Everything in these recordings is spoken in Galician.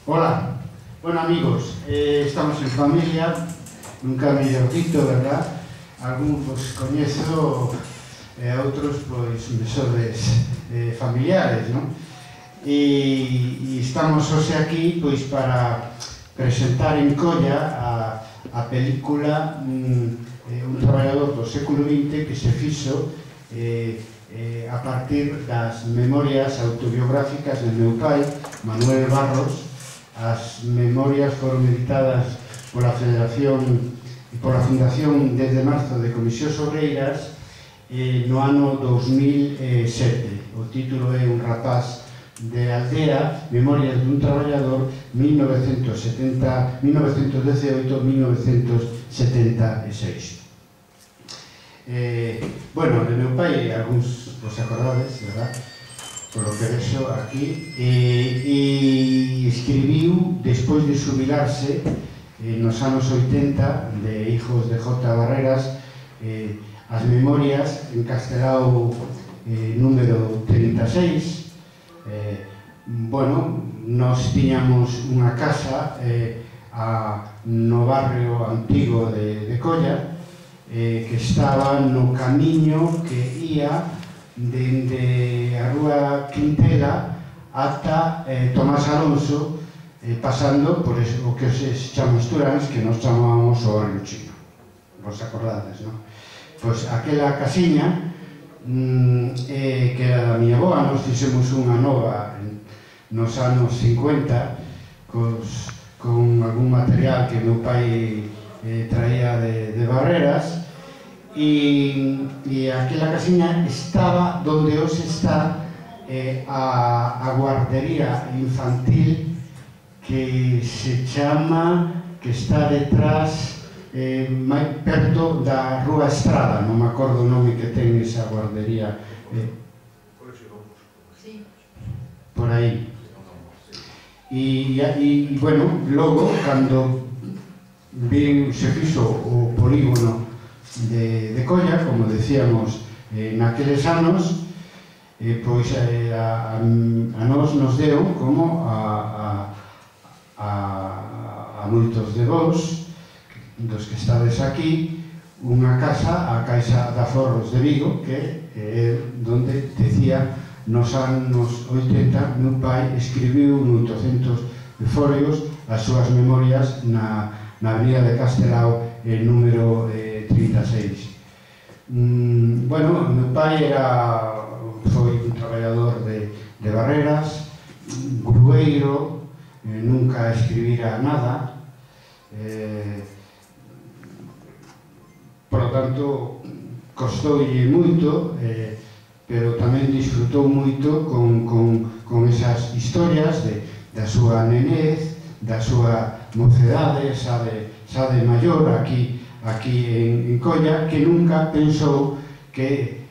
Hola, bueno amigos, estamos en familia, nunca mellor dito, verdad? Algún vos coñezo, outros pois me sodes familiares, non? E estamos hoxe aquí pois para presentar en Colla a película Un traballador do século XX que se fixo a partir das memorias autobiográficas do meu pai, Manuel Barros. As memorias foron editadas pola Federación e pola Fundación desde marzo de Comisións Obreiras no ano 2007. O título é Un rapaz de aldea, Memorias dun traballador 1918-1976. Bueno, de meu pai, algúns vos acordades, verdad? Polo que vexo aquí, e escribiu, despois de xubilarse, nos anos 80, de Hijos de J. Barreras, as memorias en castelao número 36. Bueno, nos tiñamos unha casa no barrio antigo de Colla, que estaba no camiño que ia dende a rúa Quintela ata Tomás Alonso, pasando por o que se chama Esturáns, que nos chamábamos o Barrio Chino. Vos acordades, non? Pois aquela casiña que era da miña avoa, nos fixemos unha nova nos anos 50 con algún material que meu pai traía de Barreras. E aquela casiña estaba donde hoxe está a guardería infantil que se chama, que está detrás, perto da Rúa Estrada, non me acordo o nome que ten esa guardería. Por aí. E, bueno, logo, cando se fixo o polígono de Colla, como decíamos, naqueles anos, pois a nos deu, como a moitos de vós, dos que estades aquí, unha casa, a Caixa de Aforros de Vigo, que é donde decía nos anos 80 meu pai escribiu 800 folios as súas memorias na avenida de Castelao, número 36. Bueno, meu pai foi un traballador de Barreras, grueiro, nunca escribira nada, por lo tanto costoulle moito, pero tamén disfrutou moito con esas historias da súa nenez, da súa mocedade, xa de maior, aquí en Colla, que nunca pensou que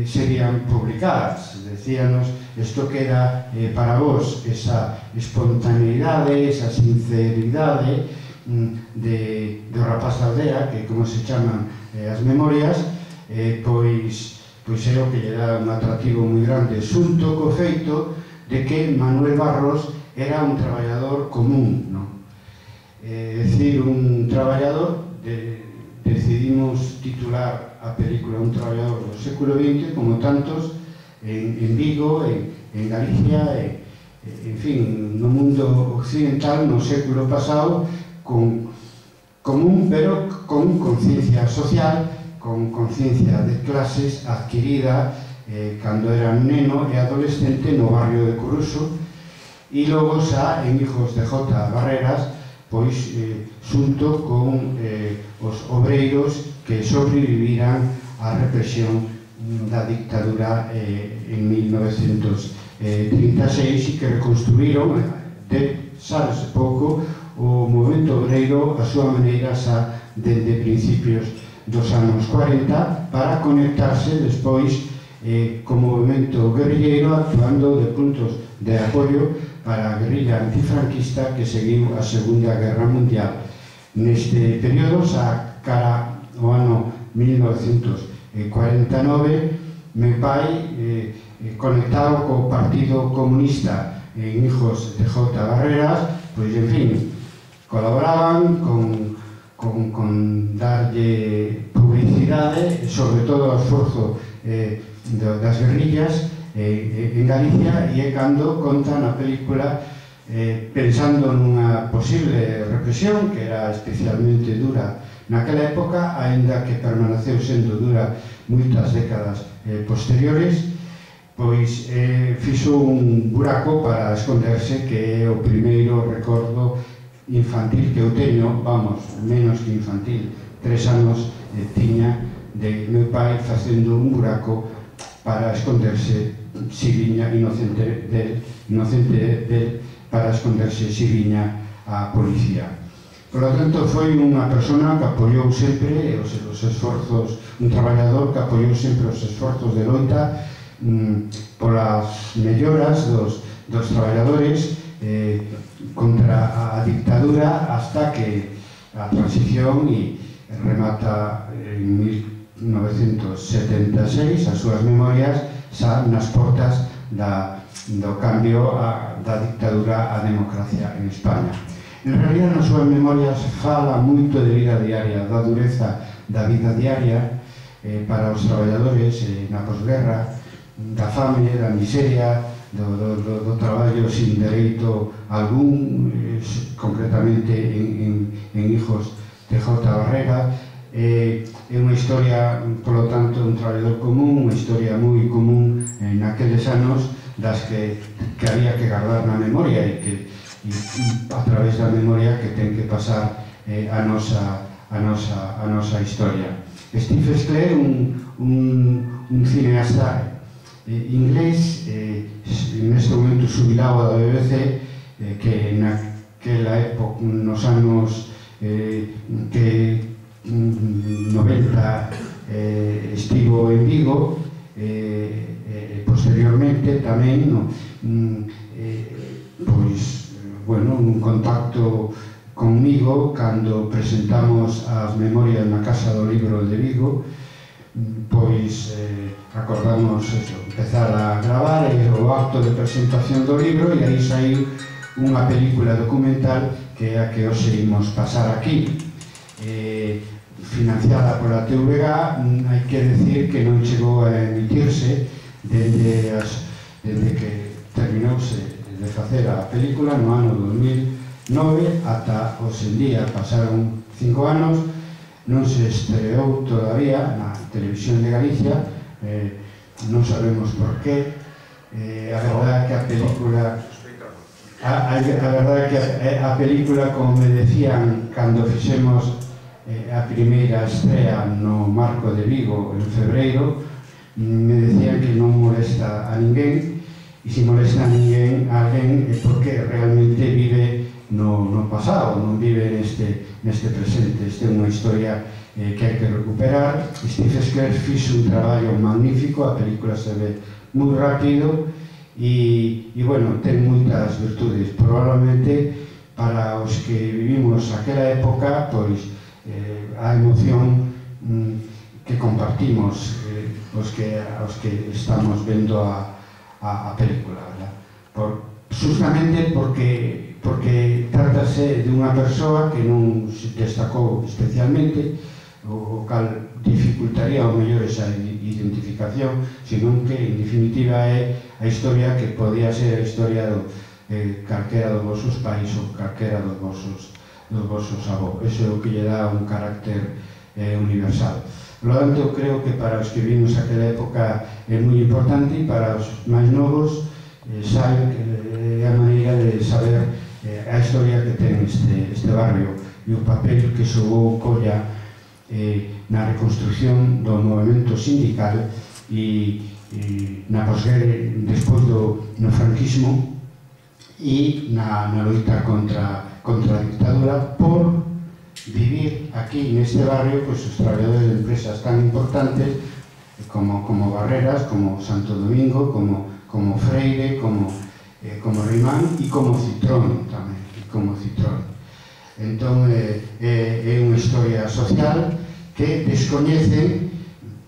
serían publicadas. Decíanos, isto queda para vos, esa espontaneidade, esa sinceridade do rapaz da aldea, que como se chaman as memorias, pois é o que lle dá un atractivo moi grande, xunto co feito de que Manuel Barros era un traballador común, non? É dicir, un traballador, decidimos titular a película Un traballador do século XX, como tantos en Vigo, en Galicia, en fin, no mundo occidental, no século pasado, común, pero con conciencia social, con conciencia de clases adquirida cando era neno e adolescente no barrio de Coruso, e logo xa en Hijos de J. Barreras, pois xunto con os obreiros que sobreviviran á represión da dictadura en 1936 e que reconstruíron, sabese pouco, o movimento obreiro a súa maneira xa dende principios dos anos 40 para conectarse despois co movimento guerrilleiro, actuando de puntos de apoio para a guerrilla antifranquista que seguiu a Segunda Guerra Mundial. Neste período, xa cara ao ano 1949, meu pai, conectado co Partido Comunista en Hijos de J. Barreras, pois, en fin, colaboraban con darlle publicidade, sobre todo o esforzo das guerrillas en Galicia, e é cando conta na película pensando nunha posible represión que era especialmente dura naquela época, aínda que permaneceu sendo dura moitas décadas posteriores, pois fixo un buraco para esconderse, que é o primeiro recordo infantil que eu teño, vamos, menos que infantil, 3 anos tiña de meu pai facendo un buraco para esconderse si viña inocente del, para esconderse si viña a policía. Por lo tanto, foi unha persona que apoiou sempre os esforzos, un traballador que apoiou sempre os esforzos de loita polas melloras dos traballadores contra a dictadura, hasta que a transición remata en 1976 as súas memorias xa nas portas do cambio da dictadura á democracia en España. En realidad, nas súas memorias fala moito de vida diaria, da dureza da vida diaria para os traballadores na posguerra, da fame, da miseria, do traballo sin dereito algún, concretamente en Hijos de J. Barrera. É unha historia, polo tanto, un traballador común, unha historia moi común naqueles anos, das que había que guardar na memoria e a través da memoria que ten que pasar a nosa historia. Steve Sclair, un cineasta inglés, neste momento xubilado da BBC, que naquela época, nos anos que 90 estivo en Vigo, posteriormente tamén pois, bueno, un contacto conmigo cando presentamos as memorias na Casa do Libro de Vigo, pois acordamos empezar a gravar o acto de presentación do libro, e aí saiu unha película documental que é a que hoxe imos pasar aquí, financiada pola TVG. Hai que decir que non chegou a emitirse dende que terminouse de facer a película no ano 2009 ata hoxe en día. Pasaron 5 anos, non se estreou todavía na televisión de Galicia, non sabemos por qué. A verdade é que a película, como me decían cando fixemos a primeira estrea no Marco de Vigo en febreiro, me decían que non molesta a ninguén, e se molesta a alguén é porque realmente vive no pasado, non vive neste presente. Esta é unha historia que hai que recuperar. Steve Sclair fixo un traballo magnífico, a película se ve moi rápido e bueno, ten moitas virtudes. Probablemente para os que vivimos aquela época, pois a emoción que compartimos os que estamos vendo a película, justamente porque trátase de unha persoa que non se destacou especialmente, o cal dificultaría ao mellor esa identificación, senón que en definitiva é a historia que podía ser a historia de calquera dos vosos pais ou calquera dos vosos avós. Eso é o que lle dá un carácter universal. Por lo tanto, creo que para os que vimos aquela época é moi importante, e para os máis novos saben que é a maneira de saber a historia que ten este barrio e o papel que xogou Colla na reconstrucción do movimento sindical e na posguerra, despois no franquismo, e na loita contra a dictadura, por vivir aquí neste barrio os traballadores de empresas tan importantes como Barreras, como Santo Domingo, como Freire, como Rimán e como Citrón tamén, Entón é unha historia social que descoñecen,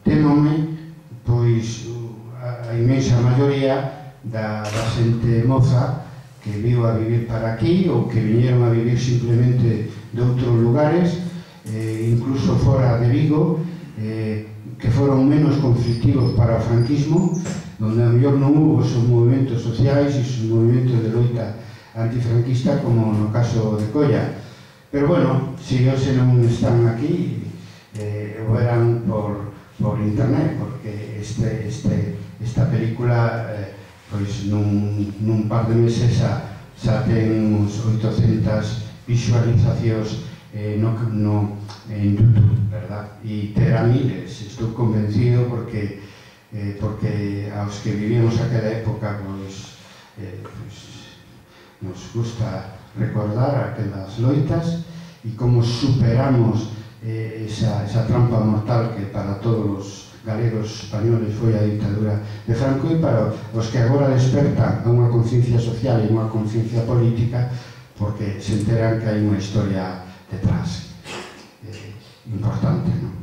temome, pois a inmensa maioría da xente moza que viu a vivir para aquí ou que viñeron a vivir simplemente de outros lugares, incluso fora de Vigo, que foron menos conflictivos para o franquismo, donde a mellor non hubo esos movimentos sociais e esos movimentos de loita antifranquista como no caso de Colla. Pero bueno, se hoxe non están aquí, o eran por internet, porque esta película pois nun par de meses xa ten uns 800 visualizacións en YouTube, verdad? E terá miles, estou convencido, porque aos que vivíamos aquela época pois nos gusta recordar aquelas loitas e como superamos esa trampa mortal que para todos os galegos españoles foi a ditadura de Franco, e para os que agora despertan a unha conciencia social e unha conciencia política, porque se enteran que hai unha historia detrás importante, non?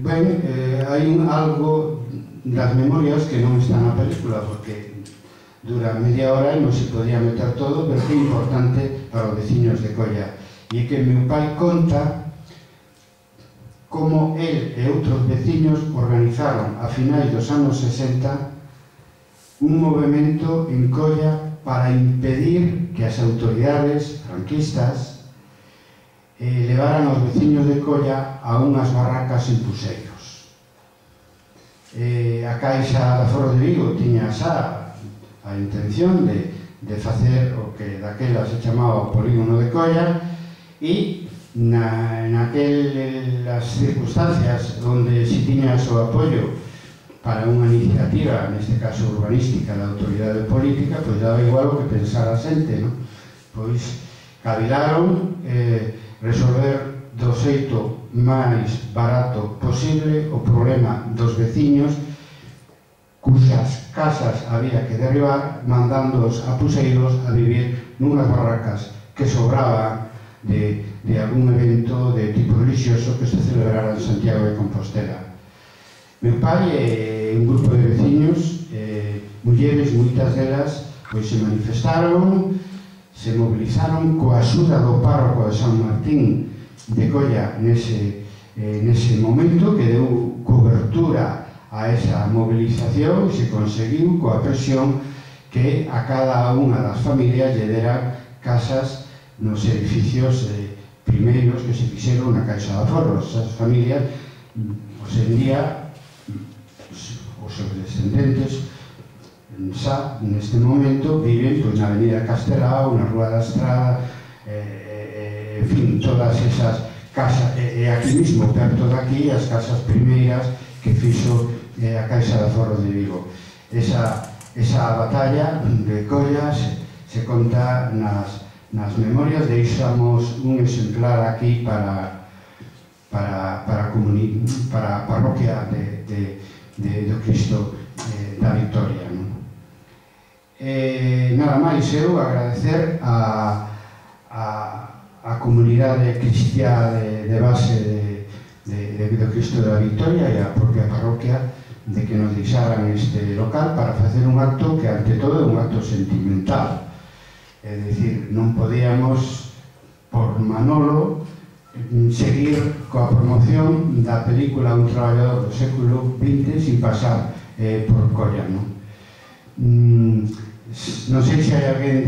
Ben, hai algo das memorias que non están na película, porque dura media hora e non se podía meter todo, pero que é importante para os veciños de Colla. E é que meu pai conta como el e outros veciños organizaron a finais dos anos 60 un movimento en Colla para impedir que as autoridades franquistas levaran aos veciños de Colla a unhas barracas en Puseiros. A Caixa de Aforros de Vigo tiña xa a intención de facer o que daquela se chamaba o polígono de Colla, e naquelas circunstancias onde si tiñas o apoio para unha iniciativa, neste caso urbanística, da autoridade política, pois daba igual o que pensara a xente, non? Pois cavilaron resolver do xeito máis barato posible o problema dos veciños cusas casas había que derribar, mandándoos a Puseiros a vivir nunhas barracas que sobraban de algún evento de tipo religioso que se celebrara en Santiago de Compostela. Meu pai e un grupo de veciños, mulleres, moitas delas, pois se manifestaron, se mobilizaron coa axuda do párroco de San Martín de Colla nese momento, que deu cobertura a esa movilización e se conseguiu coa presión que a cada unha das familias lle dera casas nos edificios primeiros que se fixeron na Caixa de Aforros. Esas familias, hoxe en día, os seus descendentes, xa neste momento viven na Avenida Castelao, na Rúa da Estrada, en fin, todas esas casas, e aquí mismo, perto de aquí, as casas primeiras que fixo a Caixa de Aforros de Vigo. Esa batalla de Colla se conta nas memorias. Deixamos un exemplar aquí para a parroquia do Cristo da Victoria. Nada máis, eu agradecer a comunidade cristiá de base do Cristo da Victoria e a propia parroquia de que nos deixaran este local para facer un acto que ante todo é un acto sentimental. É dicir, non podíamos, por Manolo, seguir coa promoción da película Un traballador do século XX sin pasar por Colla, non? Non sei se hai alguén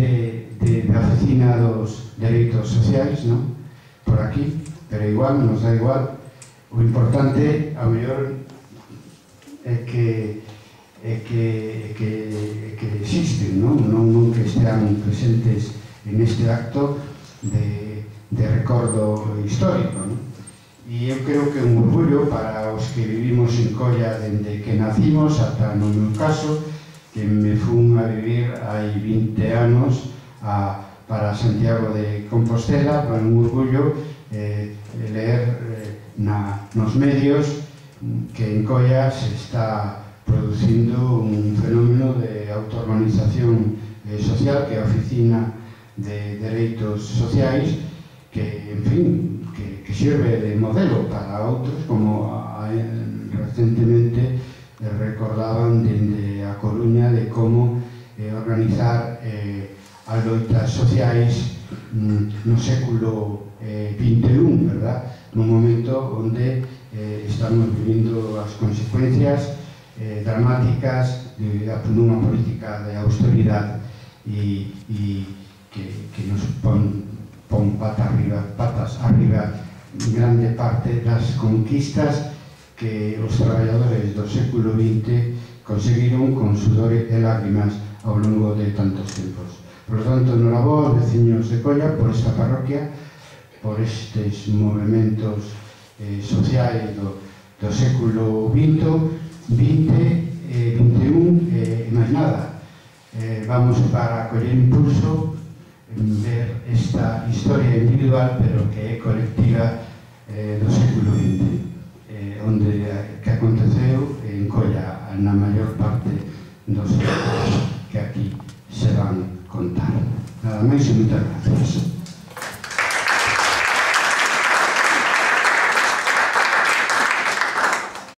da oficina dos dereitos sociais, non? Por aquí, pero igual, nos da igual. O importante, a mellor, é que existen, non que estean presentes en este acto de recordo histórico, non? E eu creo que é un orgullo para os que vivimos en Colla dende que nacimos ata no meu caso, que me fun a vivir hai 20 anos para Santiago de Compostela, para un orgullo leer nos medios que en Colla se está producindo un fenómeno de autoorganización social, que é a Oficina de Dereitos Sociais, que, en fin, que sirve de modelo para outros, como recentemente recordaban dende a Coruña de como organizar as loitas sociais no século XXI, verdad? Nun momento onde estamos vivindo as consecuencias dramáticas dunha política de austeridade e que nos pon patas arriba grande parte das conquistas que os traballadores do século XX conseguiron con sudor e lágrimas ao longo de tantos tempos. Por lo tanto, enhorabuena, veciños de Colla, por esta parroquia, por estes movimentos sociais do século XX, XXI e máis nada. Vamos para coller impulso en ver esta historia individual, pero que é colectiva do século XX, onde que aconteceu en Colla na maior parte dos que aquí se van contar. Nada máis e moitas gracias.